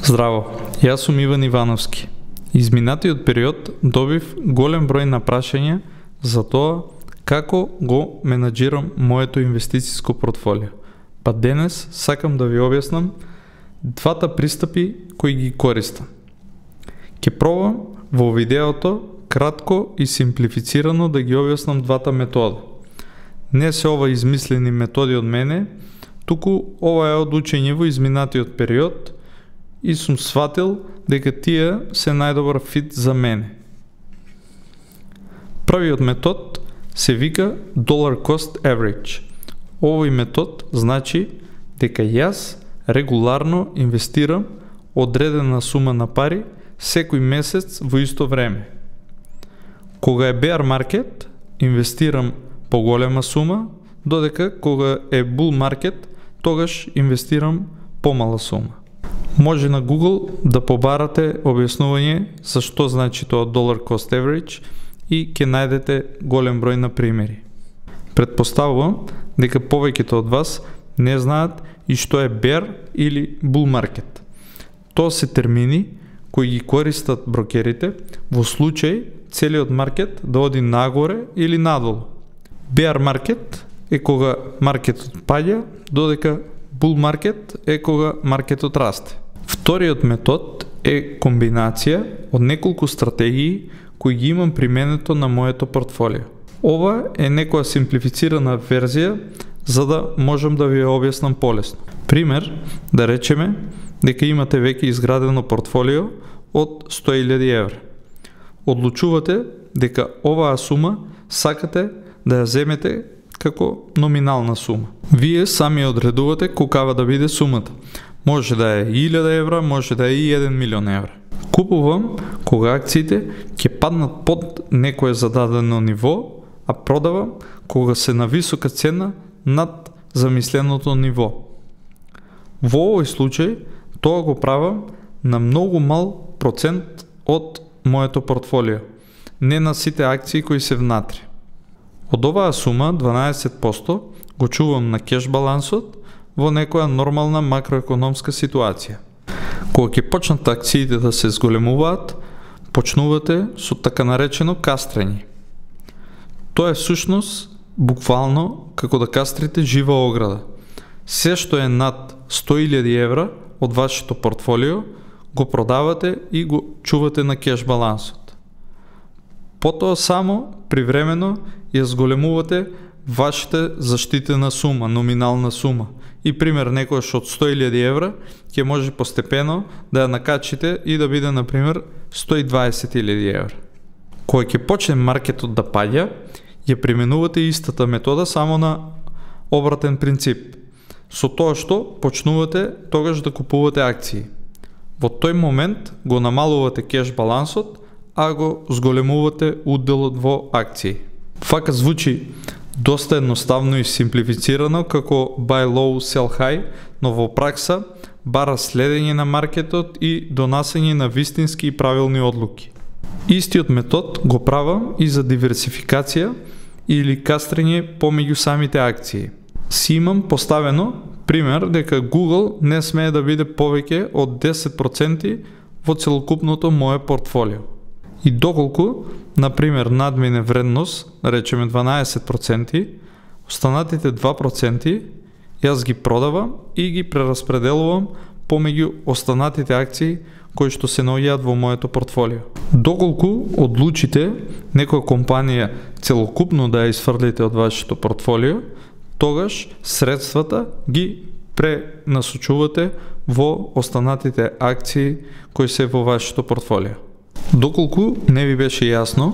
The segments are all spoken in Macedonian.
Здраво, јас сум Иван Ивановски. Изминатиот период добив голем број на прашања за тоа како го менаџирам моето инвестицијско портфолио. Па денес сакам да ви објаснам двата пристапи кои ги користам. Ќе пробам во видеото кратко и симплифицирано да ги објаснам двата метода. Не се ова измислени методи од мене, туку ова е од учење во изминатиот период и сум сватил дека тие се најдобар фит за мене. Првиот метод се вика Dollar Cost Average. Овој метод значи дека јас регуларно инвестирам одредена сума на пари секој месец во исто време. Кога е bear market, инвестирам поголема сума, додека кога е bull market, тогаш инвестирам помала сума. Може на Google да побарате објаснување за што значи тоа Dollar Cost Average и ќе најдете голем број на примери. Предпоставувам дека повеќето од вас не знаат и што е bear или bull market. Тоа се термини кои ги користат брокерите во случај целиот маркет да оди нагоре или надолу. Bear market е кога маркетот паѓа, додека bull market е кога маркетот расте. Вториот метод е комбинација од неколку стратегии кои ги имам применето на моето портфолио. Ова е некоја симплифицирана верзија за да можам да ви ја објаснам полесно. Пример, да речеме дека имате веќе изградено портфолио од 100.000 евра. Одлучувате дека оваа сума сакате да ја земете како номинална сума. Вие сами одредувате колкава да биде сумата. Може да е 1000 евра, може да е и 1 милион евра. Купувам кога акциите ќе паднат под некое зададено ниво, а продавам кога се на висока цена над замисленото ниво. Во овој случај, тоа го правам на многу мал процент од моето портфолио, не на сите акции кои се внатре. Од оваа сума, 12% го чувам на кеш балансот во некоја нормална макроекономска ситуација. Кога ќе почнат акциите да се зголемуваат, почнувате со така наречено кастрење. Тоа е всушност буквално како да кастрите жива ограда. Се што е над 100.000 евра од вашето портфолио го продавате и го чувате на кеш балансот. Потоа само привремено ја зголемувате вашата заштитена сума, номинална сума. И пример, некојаш од 100.000 евра ќе може постепено да ја накачите и да биде, например, 120.000 евра. Кога ќе почне маркетот да паѓа, ја применувате истата метода само на обратен принцип. Со тоа што почнувате тогаш да купувате акции. Во тој момент го намалувате кеш балансот, а го зголемувате уделот во акции. Фака звучи доста едноставно и симплифицирано како buy low, sell high, но во пракса бара следење на маркетот и донасење на вистински и правилни одлуки. Истиот метод го правам и за диверсификација или кастрење помеѓу самите акции. Си имам поставено пример дека Google не смее да биде повеќе од 10% во целокупното мое портфолио. И доколку, например, надмине вредност, речеме 12%, останатите 2% јас ги продавам и ги прераспределувам помеѓу останатите акции кои што се наоѓаат во моето портфолио. Доколку одлучите некоја компанија целокупно да ја изфрлите од вашето портфолио, тогаш средствата ги пренасочувате во останатите акции кои се во вашето портфолио. Доколку не ви беше јасно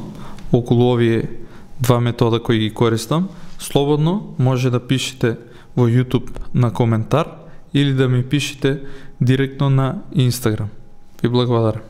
околу овие два метода кои ги користам, слободно може да пишете во YouTube на коментар или да ми пишете директно на Instagram. Ви благодарам.